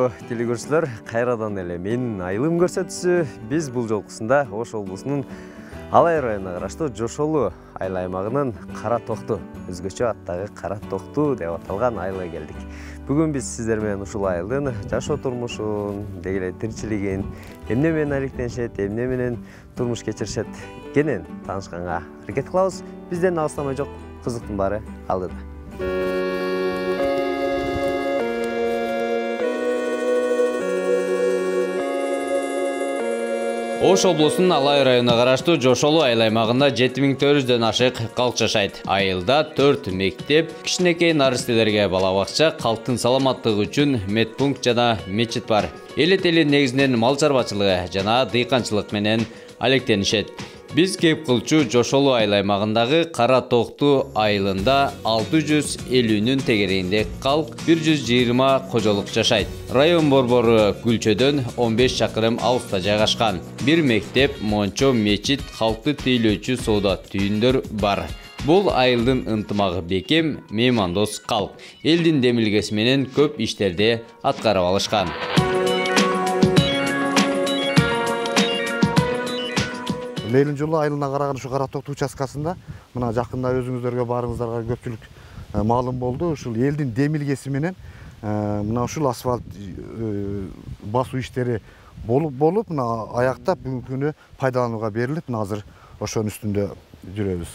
урматтуу телекөрүүчүлөр, кайрадан эле менин айылым көрсөтүүсү. Биз бул жолкусунда Ош облусунун Алай районуна караштуу Жошолу айыл аймагынын Кара Токту, өзгөчө аттагы Кара Токту деп аталган айылга келдик. Бүгүн биз сиздер менен ушул айылдын жашоо турмушун, деги эле тиричилигин, эмне менен алектенишет, эмне менен турмуш кечиришет кенен таанышканга аракет кылабыз. Бизден алыстамай жок, кызыктын баары алдыда. Ош облусунун Алай районуна караштуу Жошолу айыл аймагында 7400дөн ашык калк жашайт. Айылда 4 мектеп, кичинекей наристелерге бала бакча, калктын саламаттыгы үчүн медпункт жана мечит бар. Эл эли негизинен мал чарбачылыгы жана дыйканчылык менен алектенишет. Биз кеп кылчу Жошолу айыл аймагындагы Кара Токту айылында 650нүн тегерегинде калк, 120 кожолук жашайт. Район борбору Күлчөдөн 15 чакырым алыста жайгашкан. Бир мектеп, мончо, мечит, калкты тейлөөчү соода түйүндөр бар. Бул айылдын ынтымагы бекем, меймандос калк. Элдин демилгеси менен көп иштерди аткарып алышкан. Мейлин жылы айылына караган ушу Кара Токту участкасында мына жакында өзүңүздөргө баарыңыздарга көпчүлүк маалым болду. Ушул элдин демилгеси менен мына ушул асфальт басуу иштери болуп мына аяктап бүгүнкү күнү пайдаланууга берилип, мына азыр ошонун үстүндө жүрөбүз.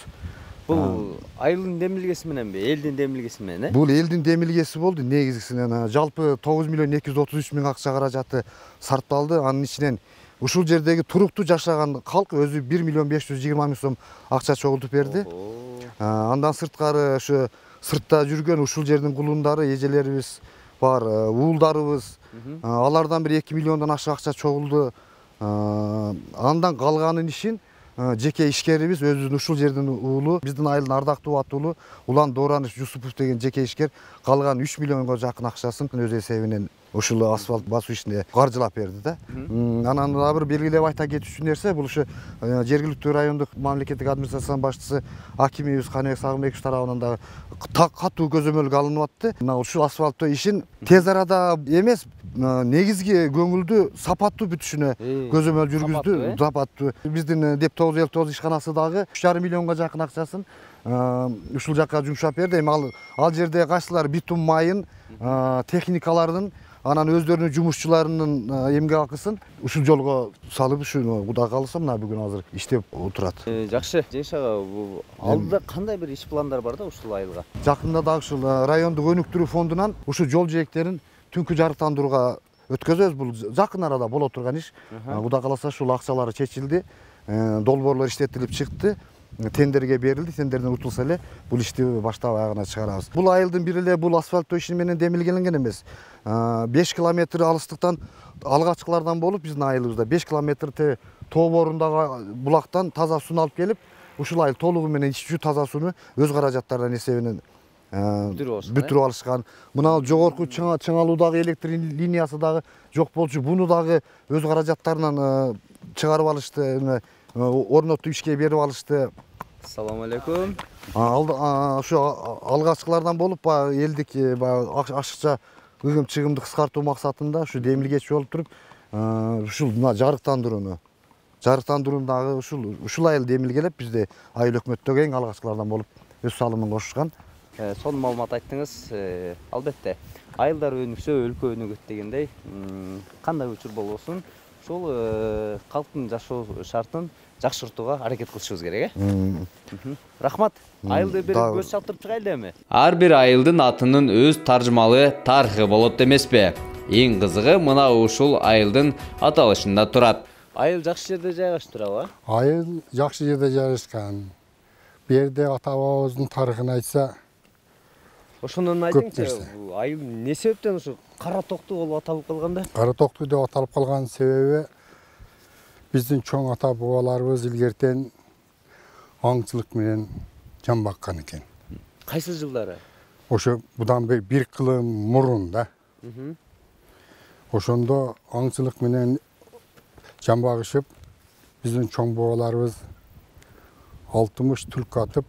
Бул айылдын демилгеси мененби, элдин демилгеси менен, Бул элдин демилгеси болду. Негизгисинен жалпы 9 миллион 233 миң акча каражаты сарпталды. Анын ичинен ушул жердеги туруктуу жашаган калк өзү 1 миллион 520 миң сом акча чогултуп берди. Андан сырткары ошо сыртта жүргөн ушул жердин кулундары, эжелерибиз бар, уулдарыбыз, алардан бир 2 миллиондон ашык акча чогулду. Андан калганын ишин жеке ишкерибиз, өзүбүздүн ушул жердин уулу, биздин айылдын ардактуу аттуулу Улан Доораныч Жусупов деген жеке ишкер калган 3 миллионго жакын акчасын өз эсебинен ушул асфальт басуу ишине каржылап берди да. Анан дагы бир белгилеп айта кетүүчү нерсе, бул ушу жергиликтүү райондук мамлекеттик администрациянын башчысы акимибиз Каныбек Сагынбекович тарабынан дагы катуу көзөмөлгө алынып атты. Мына ушул асфальттоо ишин тез арада эмес, негизги көңүлдү сапаттуу бүтүшүнө көзөмөл жүргүздү. Сапаттуу. Биздин деп 959 ишканасы дагы 3,5 миллионго жакын акчасын ушул жакка жумшап берди. Эми ал жерде кайсылар битум майын, техникалардын, анан өздөрүнүн жумушчуларынын эмгек акысын ушул жолго салып, ушуну Кудай кааласа мына бүгүн азыр иштеп отурат. Жакшы, Жеңиш ага, бул алдыда кандай бир иш пландар бар да ушул айылга? Жакында дагы ушул райондук өнүктүрүү фондунан ушул жол жээктерин түнкү жарыктандырууга өткөзөбүз. Бул жакын арада боло турган иш. Кудай кааласа ушул акчалары чечилди, долбоорлор иштетилип чыкты. Тендерге берилди, тендерден утулса эле бул ишти баштап аягына чыгарабыз. Бул айылдын бир эле бул асфальттоо иши менен демилгеленген эмес. 5 километр алыстыктан алгачкылардан болуп биздин айылыбызда 5 километр тоо борундагы булактан таза сууну алып келип, ушул айыл толугу менен ичүү таза сууну өз каражаттарынан эсебинен бүтүрүп алышкан. Мына жогорку чыңалуудагы электр линиясы дагы жок болчу. Буну дагы өз каражаттарынан чыгарып алышты, орнотуп ишке берип алышты. Ассаламу алейкум. Ошо алгачкылардан болуп элдик ашыкча ыгым-чыгымды кыскартуу максатында ушу демилгечи болуп туруп, ушул мына жарыктандырууну дагы ушул айыл демилгелеп, бизде айыл өкмөттөгү эң алгачкылардан болуп өз салымын кошушкан. Сонун маалымат айттыңыз. Албетте, айылдар өнүксө өлкө өнүгөт дегендей, кандай учур болбосун, ушул калктын жашоо шартын жакшыртууга аракет кылышыбыз керек, Рахмат. Айылды бир көз чаптырып чыгайлы эми. Ар бир айылдын атынын өз таржымалы тарыхы болот эмеспи? Эң кызыгы мына ушул айылдын аталышында турат. Айыл жакшы жерде жайгашып турабы? Айыл жакшы жерде жайгашкан. Бу жерде ата-бабабыздын тарыхын айтса, ошондон айтыңызчы, айыл эмне себептен ушу Кара Токту болуп аталып калганда? Кара Токту деп аталып калган себеби биздин чоң ата-бабаларыбыз илгертен аңчылык менен жан баккан экен. Кайсы жылдары? Ошо будан бир кылым мурун да. Ошондо аңчылык менен жан багышып, биздин чоң бабаларыбыз 60 түлкү атып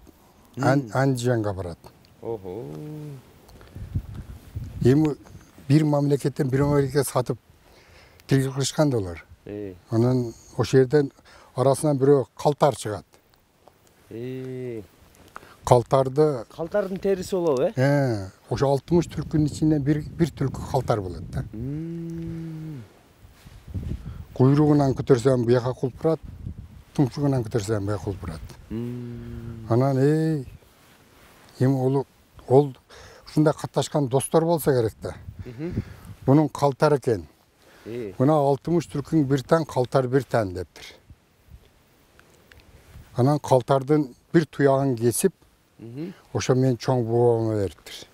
Андижанга барат. Эми бир мамлекеттен бир мамлекетке сатып тиргип кылышкан да алар. Анан ошол жерден арасынан бирөө калтар чыгат. Калтардын териси болобу, Ошо 60 түлкүнүн ичинен бир түлкү калтар болот да. Куйругунан көтөрсөм буяка кулпурат, тумшугунан көтөрсөм буяка кулпурат. Анан эми ол ушундай катташкан достор болсо керек да. Бунун калтар экен. Мына 60 түлкүң бир таң, калтар бир таң дептир. Анан калтардын бир туягын кесип, ошо мен чоң бабама бериптир.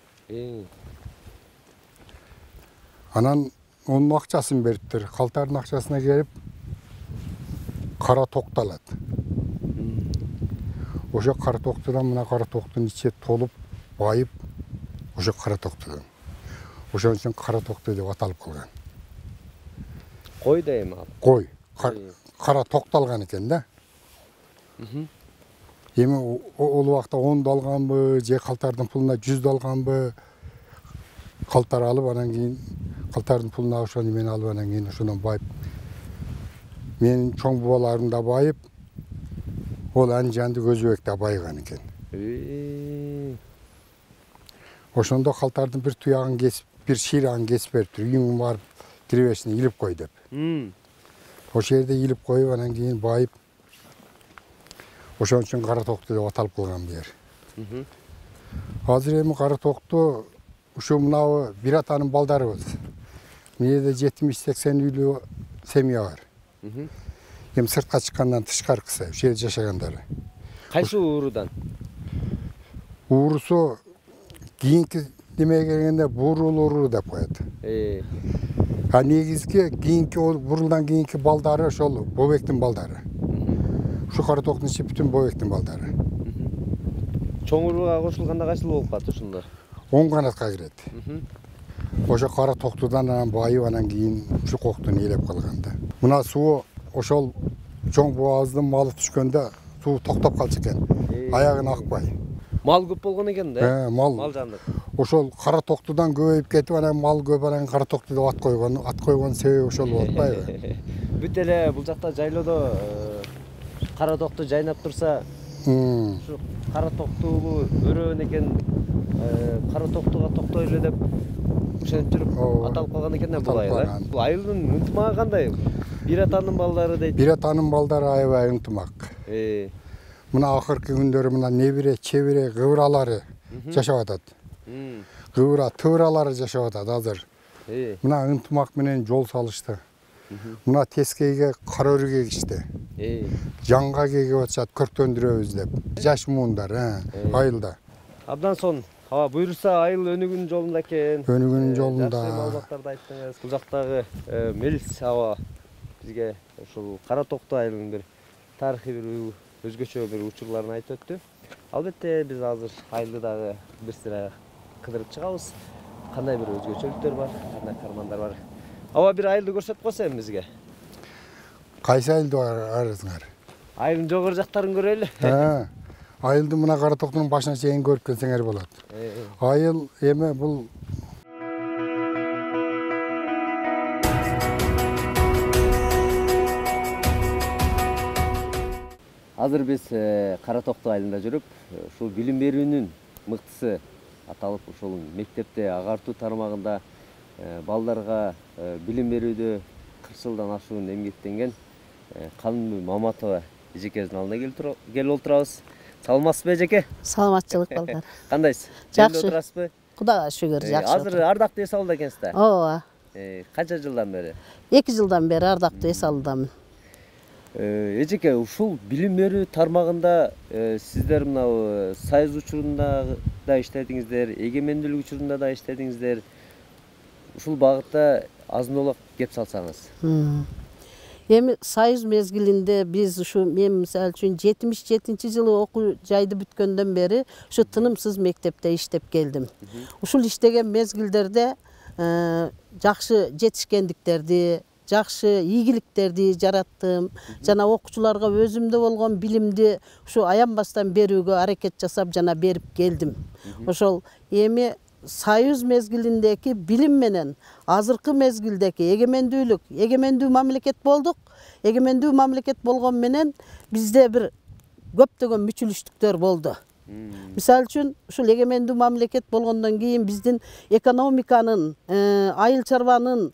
Анан onun акчасын бериптир. Калтардын акчасына келип кара токталат. Ошо кара токтудан мына кара токтун ичи толуп, байып, ошо кара токтудан. Ошон үчүн кара токту деп аталып калган. Кой да эми ал. Кой. Кара токталган экен да. Эми ол убакта 10 алганбы, же калтардын пулуна 100 алганбы, калтар алып анан кийин калтардын пулуна ошону мен алып анан кийин ошондон байып. Менин чоң бабаларым да байып, ол Анжанды Көзөбек да байыган экен. Ошондо калтардын бир туягын кесип, бир ширагын кесип бериптир. Үйүңө барып киребесине илип кой деп. Ошол жерде илип коюп анан кийин байып. Ошон үчүн кара токту деп аталып калган бу жер. Азыр эми кара токту ушу мынабы бир атанын балдарыбыз. Мында 70-80 үйлүү семья бар. Эми сыртка чыккандан тышкаркысы, ошол жерде жашагандары. Кайсы уурудан? Уурусу кийинки немеге келгенде бурул уруу деп коет. А негизги кийинки бурулдан кийинки балдары ошол Бобектин балдары. Ушу кара токтун ичи бүтүн Бобектин балдары. Чоң урууга кошулганда кайсыл болуп калат ушунда? 10 канатка кирет. Ошо кара токтудан анан байып анан кийин ушу коктун ээлеп калган да. Мына суу ошол чоң бабабыздын малы түшкөндө суу токтоп калчу экен. Аягын акпай. Мал көп болгон экен да? Мал жандык. Ошол кара токтудан көбөйүп кетип анан мал көп анан кара токту деп ат койгон себеби ошол болуп атпайбы? Бүт эле бул жакта жайлоодо кара токту жайнап турса, ушу кара токтуулу өрөөн экен, кара токтуга токтой эле деп ошентип жүрүп аталып калган экен да бул айыл. Бул айылдын ынтымагы кандай? Бир атанын балдары дейт. Бир атанын балдары аябай ынтымак. Мына акыркы күндөрү мына небире, чебире, кыбыралары жашап атат. Кыбыра, тыбыралары жашап атат азыр. Мына ынтымак менен жол салышты. Мына тескейге кара өрүгө эгишти. Жаңга кегип атышат, көрктөндүрөбүз деп. Жаш муундар айылда. Абдан сонун. Аба буйрса айыл өнүгүүнүн жолунда экен. Өнүгүүнүн жолунда. Жакшы маалыматтарды айттыңыз. Бул жактагы мелис аба бизге ушул Кара Токту айылынын бир тарыхый бир өзгөчө бир учурларын айтып өттү. Албетте биз азыр айылды дагы бир сыра кыдырып чыгабыз. Кандай бир өзгөчөлүктөр бар, кандай кармандар бар. Аба бир айылды көрсөтүп койсо эми бизге. Кайсы айылды арызыңар? Айылдын жогору жактарын көрөлү. Айылды мына Кара Токтунун башына чейин көрүп келсеңер болот. Айыл эми бул Азыр биз Кара Токту айылында жүрүп, ушул билим берүүнүн мыктысы аталып, ушул мектепте агартуу тармагында балдарга билим берүүдө 40 жылдан ашуун эмгектенген Канымбүй Маматова эжекебиздин алдына келип отурабыз. Саламатсызбы эжеке? Саламатчылык балдар. Кандайсыз? Жакшы. Отурасызбы? Кудайга шүгүр, жакшы. Азыр ардактуу эс алууда экенсиз да? Ооба. Канча жылдан бери? 2 жылдан бери ардактуу эс алуудамын. Эжеке, ушул билим берүү тармагында сиздер мына Союз учурунда да иштедиңиздер, эгемендүүлүк учурунда да иштедиңиздер. Ушул багытта азын-олак кеп салсаңыз. Эми Союз мезгилинде биз ушу мен мисалы үчүн 77-жылы окуу жайды бүткөндөн бери ушу тынымсыз мектепте иштеп келдим. Ушул иштеген мезгилдерде жакшы жетишкендиктерди, жакшы ийгиликтерди жараттым. Жана окуучуларга өзүмдө болгон билимди ушу аянбастан берүүгө аракет жасап жана берип келдим. Ошол эми Союз мезгилиндеги билим менен азыркы мезгилдеги эгемендүү мамлекет болдук. Эгемендүү мамлекет болгон менен бизде бир көптөгөн мүчүлүштүктөр болду. Мисалы үчүн ушул эгемендүү мамлекет болгондон кийин биздин экономиканын, айыл чарбанын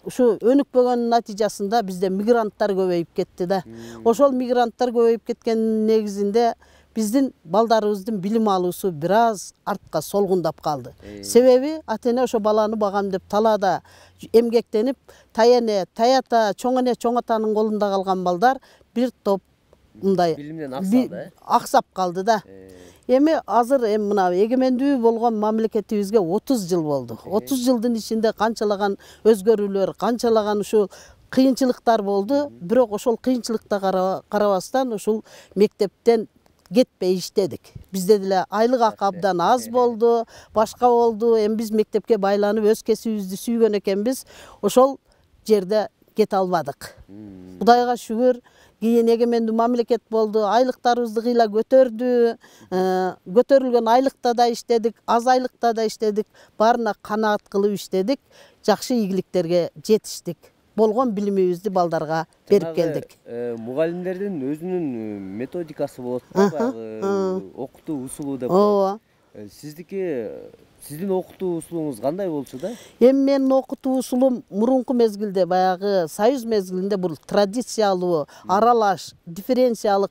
ушу өнүкпөгөнүн натыйжасында бизде мигранттар көбөйүп кетти да. Ошол мигранттар көбөйүп кеткенин негизинде биздин балдарыбыздын билим алуусу бир аз артка солгундап калды. Себеби ата-эне ошо баланы багам деп талаада эмгектенип, таята, чоң эне, чоң атанын колунда калган балдар бир топ мындай билимден аксады, аксап калды да. Эми азыр мына эгемендүү болгон мамлекетибизге 30 жыл болду. 30 жылдын ичинде канчалаган өзгөрүүлөр, канчалаган ушул кыйынчылыктар болду. Бирок ошол кыйынчылыкта карабастан ушул мектептен кетпей иштедик. Бизде деле айлык акы абдан аз болду, башка болду. Эми биз мектепке байланып өз кесибибизди сүйгөн экенбиз. Ошол жерде кете албадык. Кудайга шүгүр, кийин эгемендүү мамлекет болду, айлыктарыбызды кыйла көтөрдү. Көтөрүлгөн айлыкта да иштедик, аз айлыкта да иштедик. Баарына канаат кылып иштедик. Жакшы ийгиликтерге жетиштик. Болгон билимибизди балдарга берип келдик. Мугалимдердин өзүнүн методикасы болот да, окутуу усулу деп. Ооба. Сиздин окутуу усулуңуз кандай болчу да? Эми менин окутуу усулум мурунку мезгилде баягы Союз мезгилинде бул традициялуу, аралаш, дифференциялык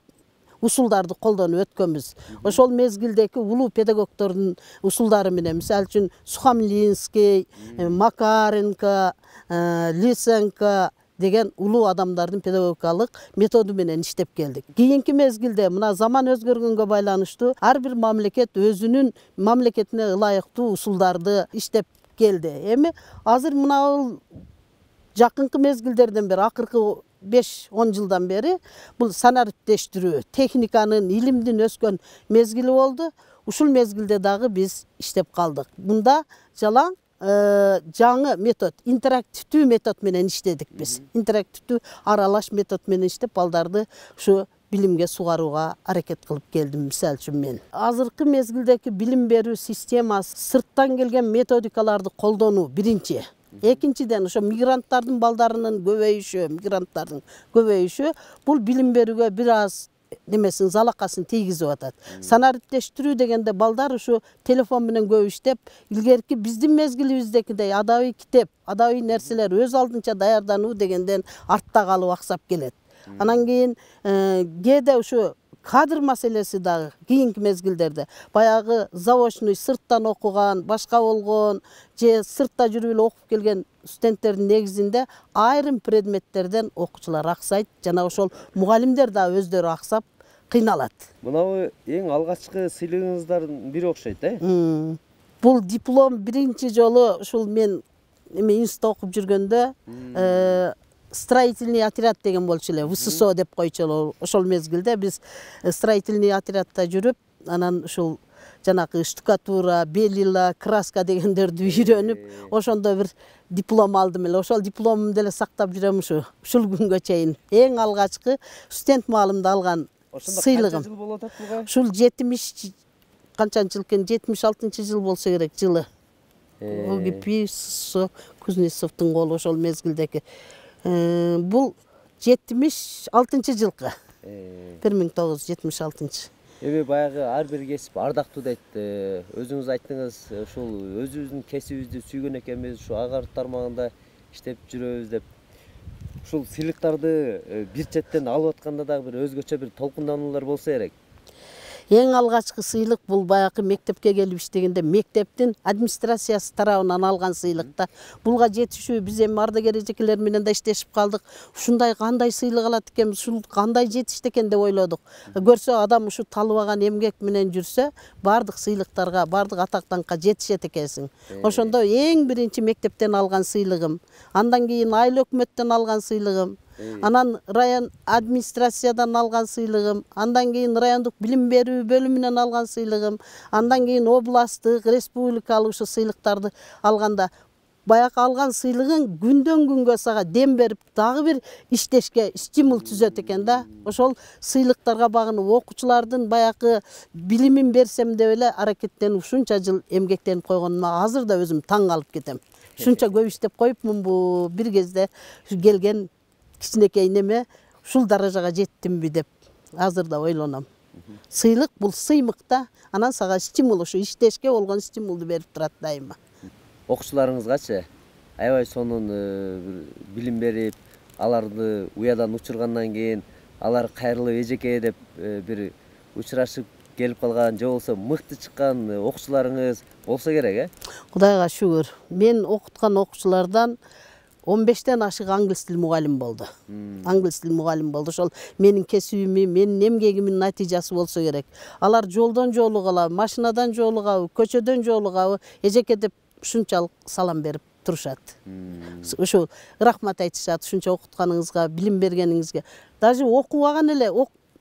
усулдарды колдонуп өткөнбүз. Ошол мезгилдеги улуу педагогдордун усулдары менен, мисалы үчүн Сухомлинский, Макаренко, Лисенко деген улуу адамдардын педагогикалык методу менен иштеп келдик. Кийинки мезгилде мына заман өзгөргөнгө байланыштуу ар бир мамлекет өзүнүн мамлекетине ылайыктуу усулдарды иштеп келди. Эми азыр мына жакынкы мезгилдерден бери, акыркы 5-10 жылдан бери бул санариптештирүү, техниканын, илимдин өскөн мезгили болду. Ушул мезгилде дагы биз иштеп калдык. Мында жалаң жаңы метод, интерактивдүү метод менен иштедик биз. Интерактивдүү аралаш метод менен иштеп балдарды ушу билимге сугарууга аракет кылып келдим, мисалы үчүн мен. Азыркы мезгилдеги билим берүү системасы сырттан келген методикаларды колдонуу биринчи. Экинчиден ошо мигранттардын балдарынын көбөйүшү бул билим берүүгө бир аз немесин залакасын тийгизип атат. Санариптештирүү дегенде балдар ушу телефон менен көп иштеп, илгерки биздин мезгилибиздегидей адабий китеп, адабий нерселер өз алдынча даярдануу дегенден артта калып аксап келет. Анан кийин кээде ушу кадр маселеси дагы кийинки мезгилдерде баягы заочный сырттан окуган, башка болгон же сыртта жүрүп эле окуп келген студенттердин негизинде айрым предметтерден окуучулар аксайт, жана ошол мугалимдер да өздөрү аксап кыйналат. Мынабу эң алгачкы сыйлыгыңыздардын бири окшойт, Бул диплом биринчи жолу ушул мен институтта окуп жүргөндө строительный отряд деген болчу эле, ВССО деп койчу эле. Ошол мезгилде биз строительный отрядта жүрүп, анан ушул жанагы штукатура, белила, краска дегендерди үйрөнүп, ошондо бир диплом алдым эле. Ошол дипломумду деле сактап жүрөм ушул күнгө чейин. Эң алгачкы студент маалымда алган сыйлыгым. Канча жыл болот буга? Ушул 70 канчанчы жыл экен, 76-жыл болсо керек жылы. ОГП Кузнецовдун колу ошол мезгилдеги. Бул 76-жылкы. 1976. Эми баягы ар бир кесип ардактуу дейт. Өзүңүз айттыңыз, ушул өзүбүздүн кесибибизди сүйгөн экенбиз, ушу агар тармагында иштеп жүрөбүз деп. Ушул сыйлыктарды бир четтен алып атканда дагы бир өзгөчө бир толкундануулар болсо керек. Эң алгачкы сыйлык бул баягы мектепке келип иштегенде мектептин администрациясы тарабынан алган сыйлыкта. Булга жетишүү биз эми ардагер эжекелер менен да иштешип калдык. Ушундай кандай сыйлык алат экенбиз, ушул кандай жетишти экен деп ойлодук. Көрсө адам ушу талыбаган эмгек менен жүрсө, бардык сыйлыктарга, бардык атактанка жетишет экенсиң. Ошондо эң биринчи мектептен алган сыйлыгым, андан кийин айыл өкмөттөн алган сыйлыгым, анан район администрациядан алган сыйлыгым, андан кийин райондук билим берүү бөлүмүнөн алган сыйлыгым, андан кийин областтык, республикалык ушу сыйлыктарды алганда баягы алган сыйлыгың күндөн күнгө сага дем берип дагы бир иштешке стимул түзөт экен да. Ошол сыйлыктарга багынып окуучулардын баягы билимин берсем деп эле аракеттенип ушунча жыл эмгектенип койгонума азыр да өзүм таң калып кетем. Ушунча көп иштеп коюпмунбу, бир кезде келген кичинекей неме ушул даражага жеттимби деп азыр да ойлоном. Сыйлык бул сыймык да, анан сага стимул, ушу иштешке болгон стимулду берип турат дайыма. Окуучуларыңызгачы аябай сонун билим берип, аларды уядан учургандан кийин алар кайрылып эжеке деп бир учурашып келип калган же болбосо мыкты чыккан окуучуларыңыз болсо керек, Кудайга шүгүр. Мен окуткан окуучулардан 15тен ашык англис тил мугалим болду. Англис тил мугалим болду. Ошол менин кесибимин, менин эмгегимин натыйжасы болсо керек. Алар жолдон жолугабы, машинадан жолугабы, көчөдөн жолугабы эжеке деп ушунчалык салам берип турушат. Ошо рахмат айтышат ушунча окутканыңызга, билим бергениңизге. Даже окубаган эле,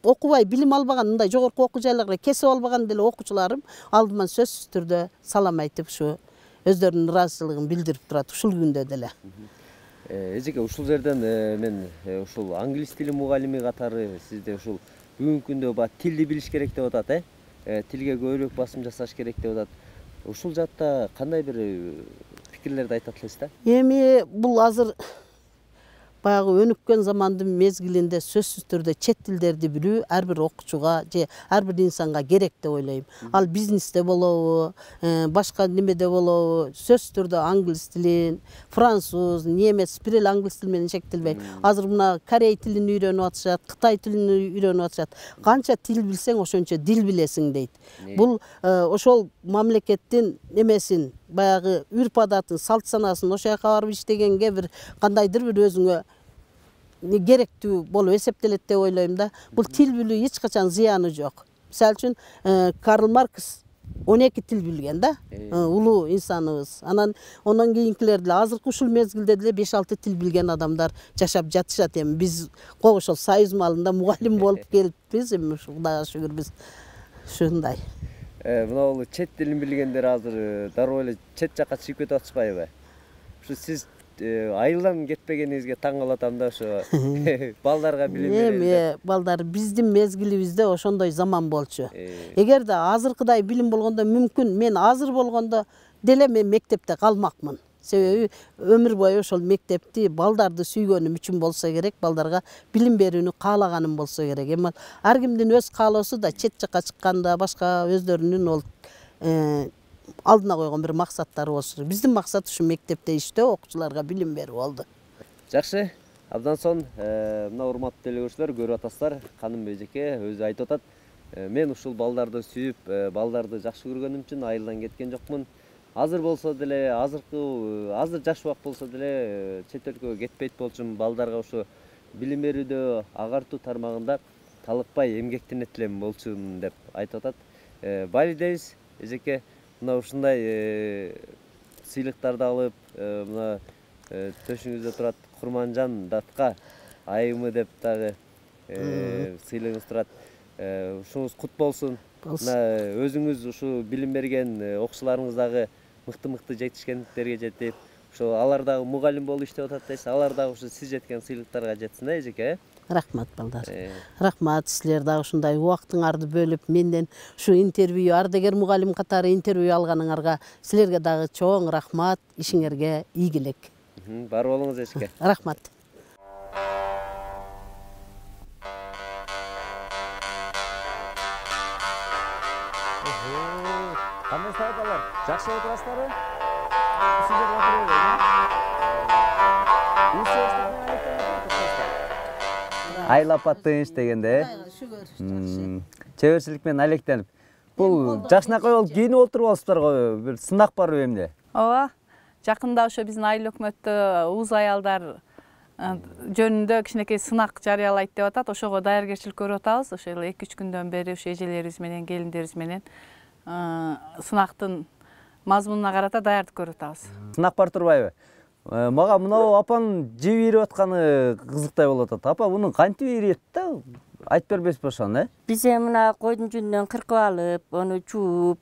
окубай билим албаган, мындай жогорку окуу жайларга кесип албаган деле окуучуларым алдыман сөзсүз түрдө салам айтып ушу өздөрүнүн ыраазычылыгын билдирип турат ушул күндө деле. Эжеке, ушул жерден мен ушул англис тили мугалими катары сизде ушул бүгүнкү күндө баягы тилди билиш керек деп атат, тилге көбүрөөк басым жасаш керек деп атат. Ушул жакта кандай бир пикирлерди айтат элесиз да? Эми бул азыр баягы өнүккөн замандын мезгилинде сөзсүз түрдө чет тилдерди билүү ар бир окуучуга же ар бир инсанга керек деп ойлойм. Ал бизнесте болобу, башка немеде болобу, сөзсүз түрдө англис тилин, француз, немец бир эле англис тил менен чектелбей. Азыр мына корей тилин үйрөнүп атышат, кытай тилин үйрөнүп атышат. Канча тил билсең, ошончо дил билесиң дейт. Бул ошол мамлекеттин немесин, баягы үрп адатын, салт санасын ошол жака барып иштегенге бир кандайдыр бир өзүңө керектүү болуп эсептелет деп ойлойм да. Бул тил билүү эч качан зыяны жок. Мисалы үчүн Карл Маркс 12 тил билген да, улуу инсаныбыз. Анан ондон кийинкилер деле азыркы ушул мезгилде деле 5-6 тил билген адамдар жашап жатышат. Эми биз ошол союз маалында мугалим болуп келиппиз, эми Кудайга шүгүр биз ушундай. Мына бул чет тилин билгендер азыр дароо эле чет жакка чыгып кетип атышпайбы? Ушу сиз айылдан кетпегениңизге таң калып атам да, ошо балдарга билим беребиз. Эми балдар биздин мезгилибизде ошондой заман болчу. Эгерде азыркыдай билим болгондо мүмкүн мен азыр болгондо деле мен мектепте калмакмын. Себеби өмүр бою ошол мектепти балдарды сүйгөнүм үчүн болсо керек, балдарга билим берүүнү каалаганым болсо керек. Эми ар кимдин өз каалоосу да чет жакка чыкканда башка өздөрүнүн ол алдына койгон бир максаттары болсу керек. Биздин максат ушу мектепте иштөө, окуучуларга билим берүү болду. Жакшы, абдан сонун. Мына урматтуу деле көрүүчүлөр, көрүп атасыздар, Каным эжеке өзү айтып атат. Мен ушул балдарды сүйүп, балдарды жакшы көргөнүм үчүн айылдан кеткен жокмун. Азыр болсо деле, азыр жаш убак болсо деле чет өлкөгө кетпейт болчумун. Балдарга ушу билим берүүдө агартуу тармагында талыкпай эмгектенет элем болчумун деп айтып атат. Бали дейбиз, эжеке. Мына ушундай сыйлыктарды алып, мына төшүңүздө турат Курманжан датка айымы деп дагы сыйлыгыңыз турат. Ушуңуз кут болсун. Мына өзүңүз ушу билим берген окуучуларыңыз дагы мыкты жетишкендиктерге жетип, ошо алар дагы мугалим болуп иштеп атат дейсиз. Алар дагы ушу сиз жеткен сыйлыктарга жетсин да, эжеке. Рахмат балдар. Рахмат, силер дагы ушундай убактыңарды бөлүп менден ушу интервью, ардагер мугалим катары интервью алганыңарга силерге дагы чоң рахмат, ишиңерге ийгилик. Бар болуңуз эжеке. Рахмат. Кандай сааталар? Жакшы отурасыздарбы? Айлап аттыңыз дегенде, чеберчилик менен алектенип. Бул жакшынакай болуп кийинип отуруп го, бир сынак барбы эмне? Ооба. Жакында ошо биздин айыл өкмөттө уз аялдар жөнүндө кичинекей сынак жарыялайт деп атат. Ошого даяргерчилик көрүп атабыз. Ошо эле 2-3 күндөн бери ошо эжелерибиз менен, келиндерибиз менен сынактын мазмунуна карата даярдык көрүп атабыз. Сынак бар турбайбы? Мага мына апанын жеп ийрип атканы кызыктай болуп атат. Апа, мунун кантип ийриет да? Айтып бербесизби ошону, Биз мына койдун жүнүнөн кыркып алып, ону жууп,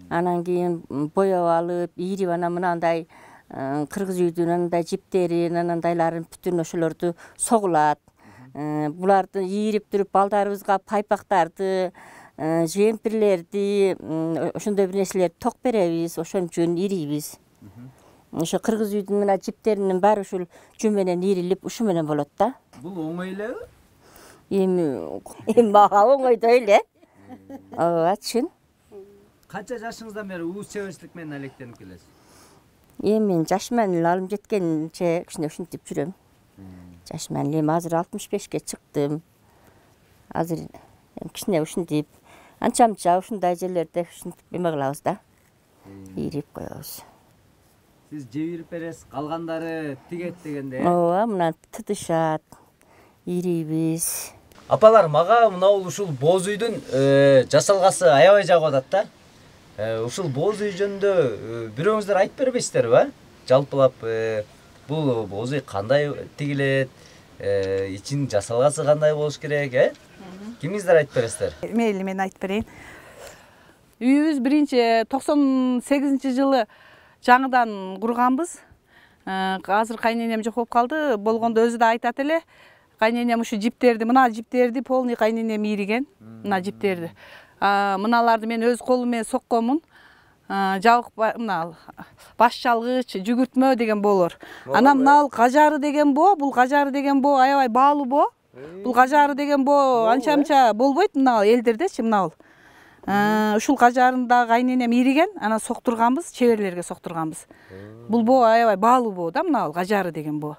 анан кийин боеп алып, ийрип анан мынандай кыргыз үйдүн анандай жиптерин, анандайларын бүтүн ошолорду согулат. Буларды ийирип туруп балдарыбызга пайпактарды, жемпирлерди, ошондой бир нерселерди ток беребиз, ошон үчүн ирийбиз. Ошо кыргыз үйдүн мына жиптеринин баары ушул жөн менен ийрилип, ушу менен болот да. Бул оңой элеби? Эми мага оңойдой эле. Ооба, чын. Канча жашыңыздан бери ууз чеберчилик менен алектенип келесиз? Мен жашыман эле алым жеткенче кичине ушинтип жүрөм. Жашыман эле азыр 65ке чыктым. Азыр кичине ушинтип, анча-мынча ушундай жерлерде ушинтип эме кылабыз да. Ийрип коебуз. Сиз жебирип бересиз, калгандары тигет дегенде. Ооба, мына тытышат, ийрийбиз. Апалар, мага мынау ушул боз үйдүн жасалгасы аябай жагып атат да. Ушул боз үй жөнүндө бирөөңүздөр айтып бербейсиздерби? Жалпылап бул боз үй кандай тигилет, ичин жасалгасы кандай болуш керек, Кимиңиздер айтып бересиздер? Мейли, мен айтып берейин. Үйүбүз биринчи 98-жылы жаңыдан курганбыз. Азыр кайненем жок болуп калды. Болгондо өзү да айтат эле. Кайненем ушу жиптерди, мына жиптерди полный кайненем ийриген. Мына жиптерди. Мыналарды мен өз колум менен сокконмун. Жабык мына баш жалгыч, жүгүртмө деген болор. Анан мына кажары деген боо, бул кажары деген боо аябай баалуу боо. Бул кажары деген боо анча-мынча болбойт мына элдердечи мына бул. Ушул кажарын да кайненем ийриген, анан соктурганбыз, чеберлерге соктурганбыз. Бул боо аябай баалуу боо да, мына бул кажары деген боо.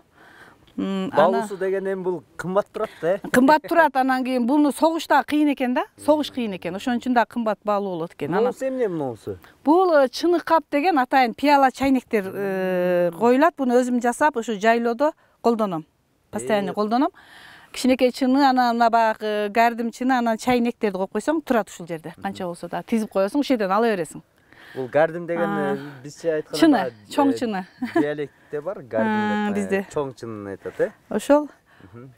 Баалуусу деген эми бул кымбат турат да, Кымбат турат, анан кийин буну согушта кыйын экен да, согуш кыйын экен. Ошон үчүн да кымбат баалуу болот экен. Монусу эмне монусу? Бул чынык кап деген атайын пияла чайнектер коюлат. Буну өзүм жасап, ушу жайлоодо колдоном. Постоянно колдоном. Кичинекей чыны, анан мына баягы гардим чыны, анан чайнектерди коюп койсоң турат ушул жерде. Канча болсо да тизип коесуң, ушул жерден ала бересиң. Бул гардим деген бизче айтканда чыны, чоң чыны. Диалектте бар гардим деп. Бизде чоң чынын айтат, Ошол.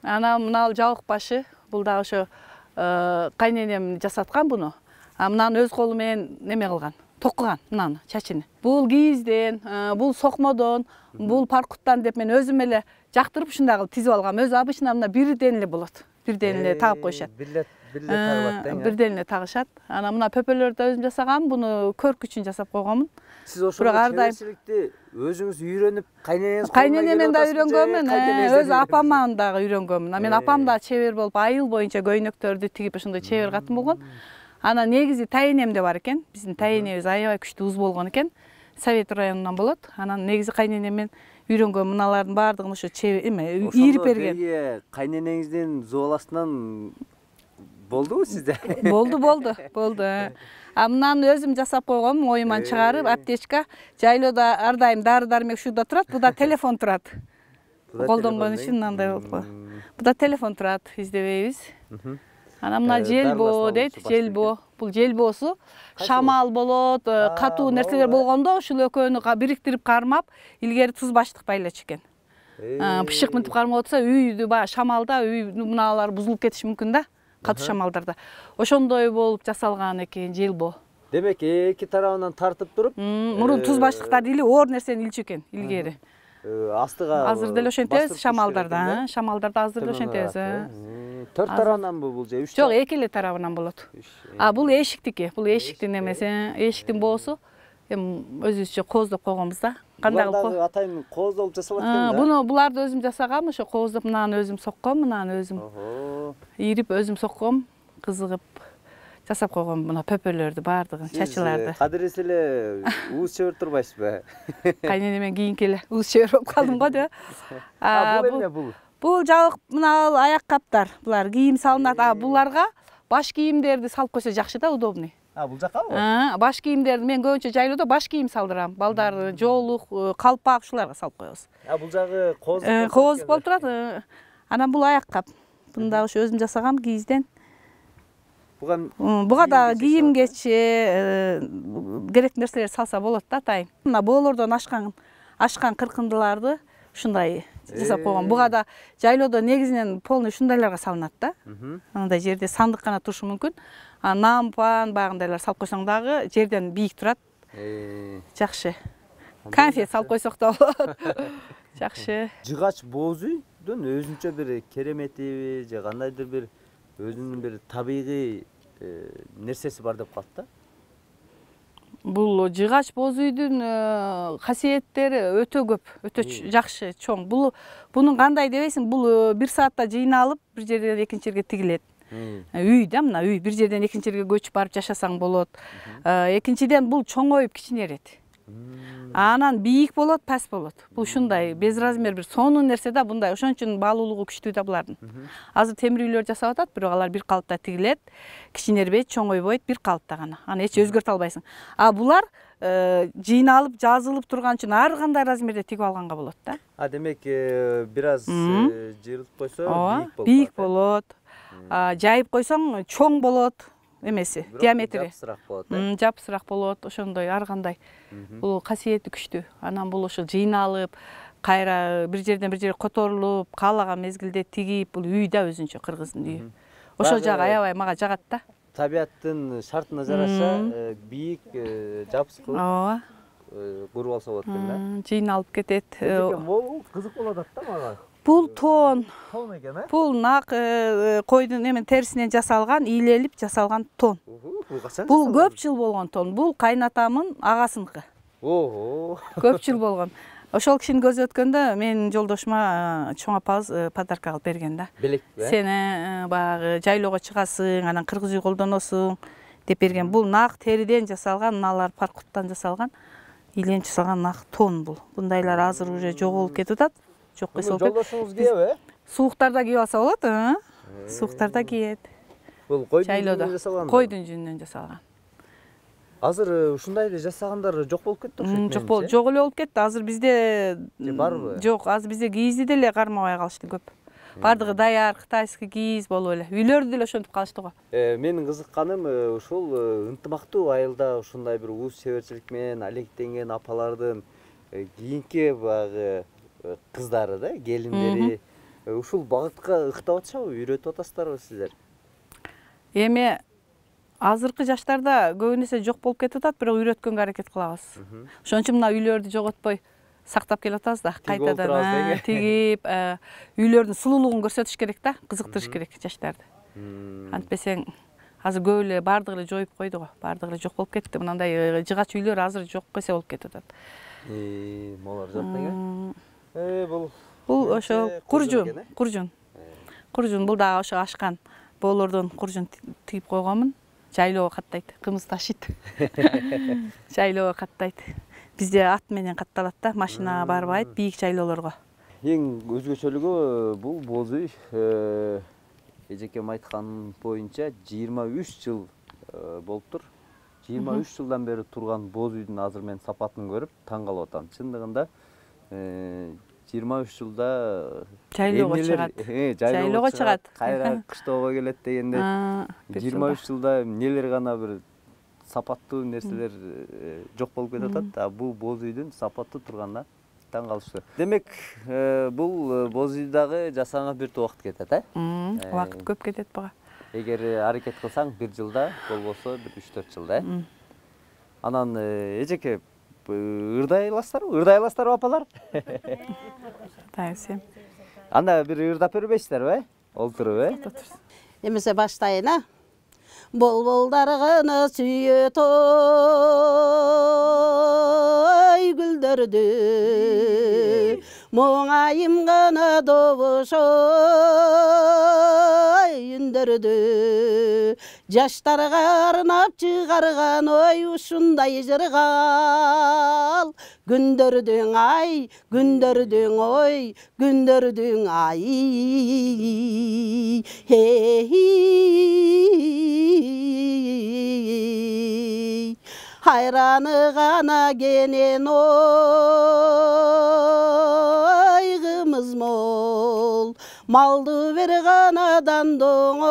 Анан мына жабык башы, бул да ошо кайненем жасаткан буну. Мынаны өз колу менен неме кылган, токкуган мынаны чачыны. Бул кийизден, бул сокмодон, бул паркуттан деп мен өзүм эле жактырып ушундай кылып тизип алгам. Өзү обычно мына бирден эле болот. Бирден эле тагып коюшат. Бирден тагылат да. Бирден эле тагышат. Анан мына пөпөлөрдү да өзүм жасагам. Буну көрк үчүн жасап койгонмун. Сиз ошол чеберчиликти өзүңүз үйрөнүп, кайненемден да үйрөнгөнмүн, өз апамдан дагы үйрөнгөнмүн. Мен апам да чебер болуп, айыл боюнча көйнөктөрдү тигип ошондой чебер катын болгон. Анан негизи тайенемде бар экен. Биздин тайенебиз аябай күчтүү уз болгон экен. Совет районунан болот. Анан негизи кайненемден үйрөнгөн мыналардын баардыгын ошо ийрип берген. Ошондо кайненеңиздин зубаласынан болдубу сизде? Болду. Мынаны өзүм жасап койгом, оюман чыгарып, аптечка. Жайлоодо ар дайым дары-дармек ушурда турат, буда телефон турат. Колдонгон үчүн мындай болуп калат. Буда телефон турат, издебейбиз. Анан мына желбоо дейт, желбоо. Бул желбоосу шамал болот, катуу нерселер болгондо ушул экөөнү бириктирип кармап, илгери туз баштык байлачу экен. Бышык мынтип кармап атса, үйдү баягы шамалда үй мыналар бузулуп кетиши мүмкүн да. Катуу шамалдарда. Ошондой болуп жасалган экен желбоо. Демек, эки тарабынан тартып туруп, мурун туз баштыктарды или оор нерсени илчү экен илгери. Астыга азыр деле ошентебиз шамалдарда, шамалдарда азыр деле ошентебиз. 4 тарабынан бул же 3? Жок, 2 эле тарабынан болот. Бул эшиктики, бул эшиктин эмеси, эшиктин боосу. Эми өзүбүзчө кооздоп койгонбуз да. Кандай кылып? Атайын кооздолуп жасалат экен да. Буну буларды өзүм жасагам, ошо кооздоп, мынаны өзүм сокком, мынаны өзүм ийрип өзүм сокком, кызыгып жасап койгом мына пөпөлөрдү баардыгын, чачыларды. Кадырес эле ууз чебер турбайсызбы? Кайненемен кийинки эле ууз чебер болуп калдым го деп. Бул эмне бул? Бул жабык мына аяк каптар. Булар кийим салынат. Буларга баш кийимдерди салып койсо жакшы да, удобный. Бул жакабы? Баш кийимдерди мен көбүнчө жайлоодо баш кийим салдырам. Балдар жоолук, калпак ушуларга салып коебуз. Бул жагы кооздук. Кооздук болуп турат. Анан бул аяк кап. Буну да ошо өзүм жасагам кийизден. Буга да кийимгече керек нерселер салса болот да, атайын. Мына боолордон ашкан кыркындыларды ушундай жасап койгон. Буга да жайлоодо негизинен полный ушундайларга салынат да. Андай жерде сандык гана турушу мүмкүн. Нампан, багындайлар салып койсоң дагы жерден бийик турат. Жакшы. Конфет салып койсок да болот. Жакшы. Жыгач боз үйдүн өзүнчө бир кереметиби же кандайдыр бир өзүнүн бир табигый нерсеси бар деп калат да. Бул жыгач боз үйдүн касиеттери өтө көп, өтө жакшы, чоң. Бунун кандай дебейсиң, бул бир саатта жыйналып бир жерден экинчи жерге тигилет. Үй да, мына үй, бир жерден экинчи жерге көчүп барып жашасаң болот. Экинчиден бул чоңоюп кичинерет. Анан бийик болот, паст болот. Бул ушундай без размер бир сонун нерсе да, мындай. Ошон үчүн баалуулугу күчтүү да булардын. Азыр темир үйлөр жасап атат, бирок алар бир калыпта тигилет, кичинербейт, чоңойбойт, бир калыпта гана. Аны эч өзгөртө албайсың. А булар жыйналып, жазылып турган үчүн ар кандай размерде тигип алганга болот да. Демек бир аз жыйылып койсо бийик болот. Жайып койсоң чоң болот. Эмеси, диаметри жапсыраак болот. Жапсыраак болот, ошондой ар кандай. Бул касиети күчтүү. Анан бул ошо жыйналып, кайра бир жерден бир жерге которулуп, каалаган мезгилде тигип, бул үй да өзүнчө кыргыздын үйү. Ошол жагы аябай мага жагат да. Табиаттын шартына жараша бийик жапсыз кылып Ооба. куруп алса болот экен да. Жыйналып кетет. Бул кызык болуп атат да мага. Бул тон. Тон экен, Бул нак койдун эмен терисинен жасалган, ийлелип жасалган тон. Бул качан? Бул көп жыл болгон тон. Бул кайнатамын агасыныкы. Көп жыл болгон. Ошол кишини көзү өткөндө менин жолдошума чоң апабыз подарка кылып берген да. Белекпи? Сени баягы жайлоого чыгасың, анан кыргыз үй колдоносуң деп берген. Бул нак териден жасалган, мыналар паркуттан жасалган, ийленип жасалган нак тон бул. Бундайлар азыр уже жоголуп кетип атат. Жок кыйсып атат. Жолдошуңуз кийеби? Сууктарда кийип алса болот, Сууктарда кийет. Бул койдун жүнүнөн жасалган. Койдун жүнүнөн жасалган. Азыр ушундайды жасагандар жок болуп кетти окшойт. Жок эле болуп кетти. Азыр бизде барбы? Жок, азыр бизде кийизди деле кармабай калышты көп. Бардыгы даяр кытайский кийиз болуп эле. Үйлөрдү деле ошентип калышты го. Менин кызыкканым ушул ынтымактуу айылда ушундай бир уус себерчилик менен алектенген апалардын кийинки баягы кыздары да, келиндери ушул багытка ыктап атышабы, үйрөтүп атасыздарбы сиздер? Эми азыркы жаштарда көбүнесе жок болуп кетип атат, бирок үйрөткөнгө аракет кылабыз. Ошон үчүн мына үйлөрдү жоготпой сактап келип атабыз да. Кайтадан тигип, үйлөрдүн сулуулугун көрсөтүш керек да, кызыктырыш керек жаштарды. Антпесең азыр көп эле бардыгы эле жоюп койду го, бардыгы эле жок болуп кетти. Мындай жыгач үйлөр азыр жок эсе болуп кетип атат. Молор жок экен. Бул ошо куржун. Куржун бул дагы ошо ашкан боолордон куржун тигип койгонмун. Жайлоого каттайт, кымыз ташыйт. Жайлоого каттайт. Бизде ат менен катталат да, машина барбайт бийик жайлоолорго. Эң өзгөчөлүгү бул боз үй эжекем айткан боюнча 23 жыл болуптур. 23 жылдан бери турган боз үйдүн азыр мен сапатын көрүп таң калып атам. Чындыгында 23 жылда жайлоого чыгат. Жайлоого чыгат. Кайра кыштоого келет дегенде 23 жылда эмнелер гана бир сапаттуу нерселер жок болуп кетип атат. А бул боз үйдүн сапаттуу турганына таң калыштуу. Демек, бул боз үй дагы жасаганга бир убакыт кетет, Убакыт көп кетет буга. Эгер аракет кылсаң 1 жылда, болбосо 3-4 жылда. Анан эжеке ырдай аласыздарбы? Ырдай аласыздарбы апалар? Тайсем. Анда бир ырдап бербейсиздерби, Олтуруп, Эмесе баштайын, Болболдарганы сүйөт гүлдөрдү, Моңайым гана добуш үндөрдү, Жаштарга арнап чыгарган ушундай жыргал, Күндөрдүң ай, күндөрдүң ой, күндөрдүң ай. Хайраны гана кенен ой, кымыз мол, малды бер канадан доңой,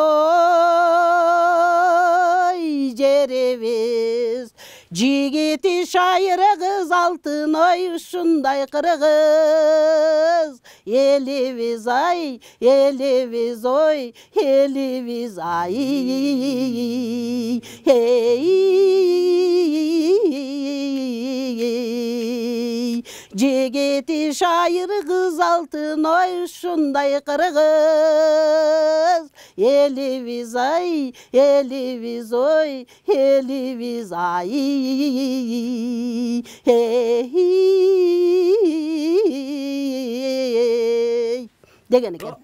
жеребиз. Жигити шайыр кыз алтын ой, ушундай кыргыз. Элибиз ай, элибиз ой, элибиз ай. жегети шайыр кыз алтын ой ушундай кыргыз элибиз ай элибиз ой элибиз ай деген экен.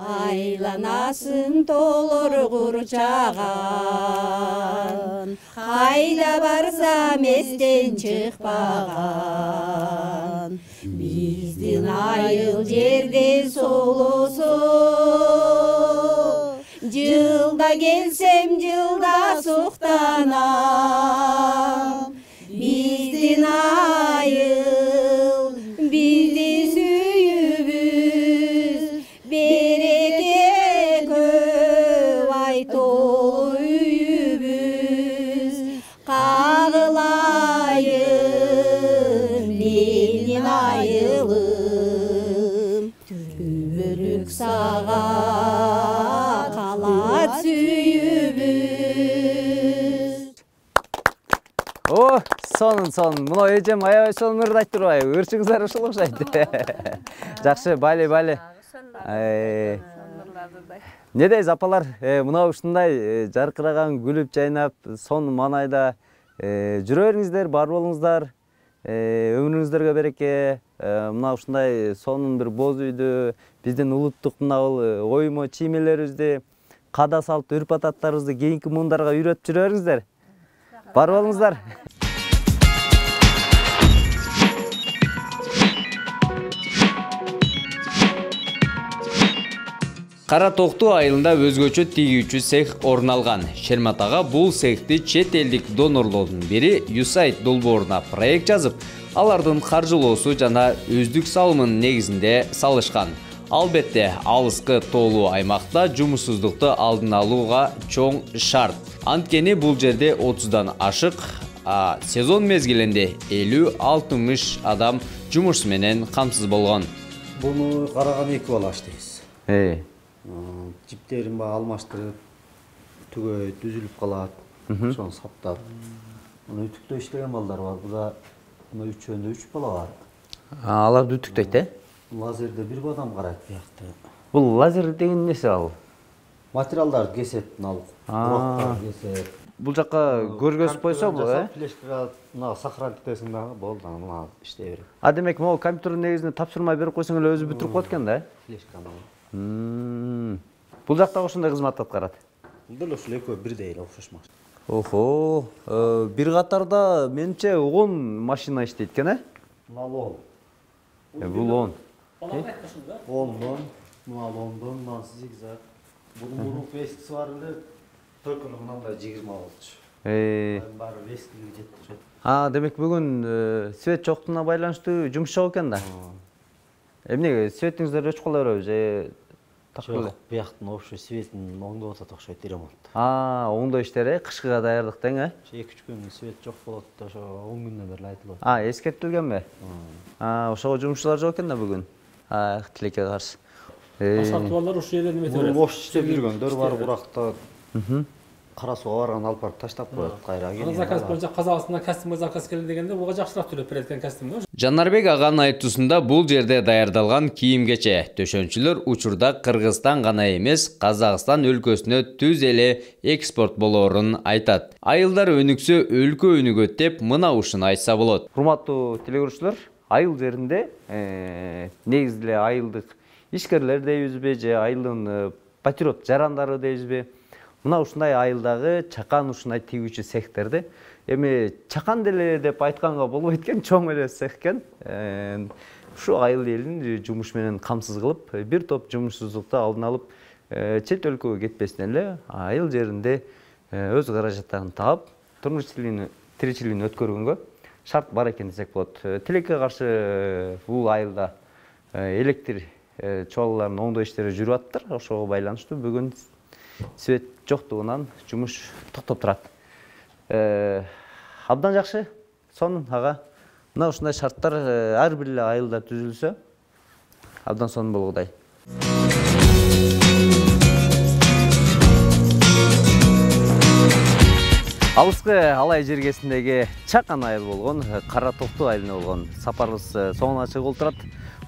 Айланасын толор курчаган, кайда барсам эстен чыкпаган. Биздин айыл жерде солосо, жылда келсем жылда суктанам. Биздин айыл, биздин сүйүбүз, береке көп ай толуу үйүбүз. Кагылайын менин айылым, түбөлүк сага калат сүйүбүз. О, сонун. Мына эжем аябай сонун ырды айтып турбайбы? Ырчыңыздар ушул окшойт. Жакшы, бали. Не дейсиз апалар? Мына ушундай жаркыраган, күлүп жайнап, сонун маанайда жүрө бериңиздер, бар болуңуздар. Өмүрүңүздөргө береке. Мына ушундай сонун бир боз үйдү, биздин улуттук мына оймо чиймелерибизди, када салт, үрп ататтарыбызды кийинки муундарга үйрөтүп жүрө бериңиздер. Бар болуңуздар. Кара Токту айылында өзгөчө тигүүчү цех орун алган. Шермат ага бул цехти чет элдик донорлордун бири USAID долбооруна проект жазып, алардын каржылоосу жана өздүк салымынын негизинде салышкан. Албетте, алыскы тоолуу аймакта жумушсуздукту алдын алууга чоң шарт. Анткени бул жерде 30дан ашык, сезон мезгилинде 50-60 адам жумуш менен камсыз болгон. Буну караган 2 бала иштейбиз. Жиптерин алмаштырып, түгөйт, үзүлүп калат, ошону саптап. Муну үтүктөө иштеген балдар бар. Буда мына үчөөндө 3 бала бар. Аларды үтүктөйт, Лазерде бир адам карайт биякта. Бул лазер деген нерсе ал? Материалдарды кесет, урактарды кесет. Бул жакка көргөзүп койсо, флешкага мына сохранить этесиң дагы болду, мына иштей берет. Демек, могу компьютердин негизинде тапшырма берип койсоң эле өзү бүтүрүп коет экен да? Флешканы. Бул жакта ошондой кызмат аткарат. Бул ушул экөө бирдей эле окшошмак. Охо, бир катарда менимче 10 машина иштейт экен, Мына 10. Бул 10. 10дон, мына 10дон, мына зигзаг. Бунун мурунку эскиси бар эле, только мындай 20 болчу. Баары эскилиги жетти. Демек бүгүн свет жоктугуна байланыштуу жумуш жок экен да. Эмне светиңиздер өчүп кала береби же Жок, бияктын общий светин оңдоп атат окшойт ремонт. Оңдоо иштери кышкыга даярдык тең, 2-3 күн свет жок болот, ошо 10 күндөн бери айтылат. Эскертилгенби? Ошого жумушчулар жок экен да бүгүн. Тилекке каршы. Сатыбалдар ушул жерден эметип берет. Бош иштеп жүргөндөр бар, уракта кара сууга барган алып барып таштап коет, кайра келген. Заказ боюнча Казакстанда костюмга заказ келди дегенде буга жакшыраак төлөп берет экен костюмду. Жанарбек аганын айтуусунда бул жерде даярдалган кийим-кече төшөнчүлөр учурда Кыргызстан гана эмес, Казакстан өлкөсүнө түз эле экспорт болоорун айтат. Айылдар өнүксө өлкө өнүгөт деп мына ушуну айтса болот. Урматтуу телекөрүүчүлөр, айыл жеринде негизи эле айылдык ишкерлер дейбизби же айылдын патриот жарандары дейбизби? Мына ушундай айылдагы чакан ушундай тигүүчү цехтерди эми чакан деле деп айтканга болбойт экен, чоң эле цех экен. Ушу айыл элин жумуш менен камсыз кылып, бир топ жумушсуздукту алдын алып, чет өлкөгө кетпестен эле айыл жеринде өз каражаттарын таап, турмуш тиричилигин өткөргөнгө шарт бар экен десек болот. Тилекке каршы бул айылда электр чуалаларынын оңдоо иштери жүрүп атыптыр. Ошого байланыштуу бүгүн свет жоктугунан жумуш токтоп турат. Абдан жакшы, сонун ага. Мына ушундай шарттар ар бир эле айылда түзүлсө, абдан сонун болгудай. Алыскы Алай жергесиндеги чакан айыл болгон Кара Токту айылына болгон сапарыбыз соңуна чыгып олтурат.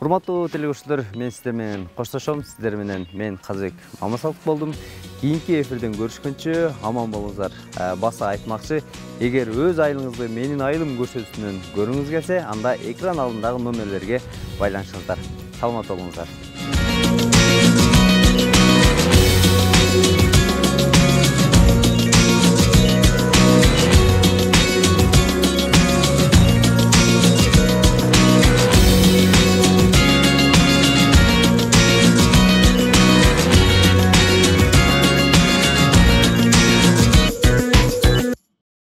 Урматтуу телегөрүүчүлөр, мен сиздер менен коштошом. Сиздер менен мен Казыбек Мамасалык болдум. Кийинки эфирден көрүшкөнчө аман болуңуздар. Баса айтмакчы, эгер өз айылыңызды менин айылым көрсөтүүсүнөн көрүңүз келсе, анда экран алдындагы номерлерге байланышыңыздар. Саламат болуңуздар.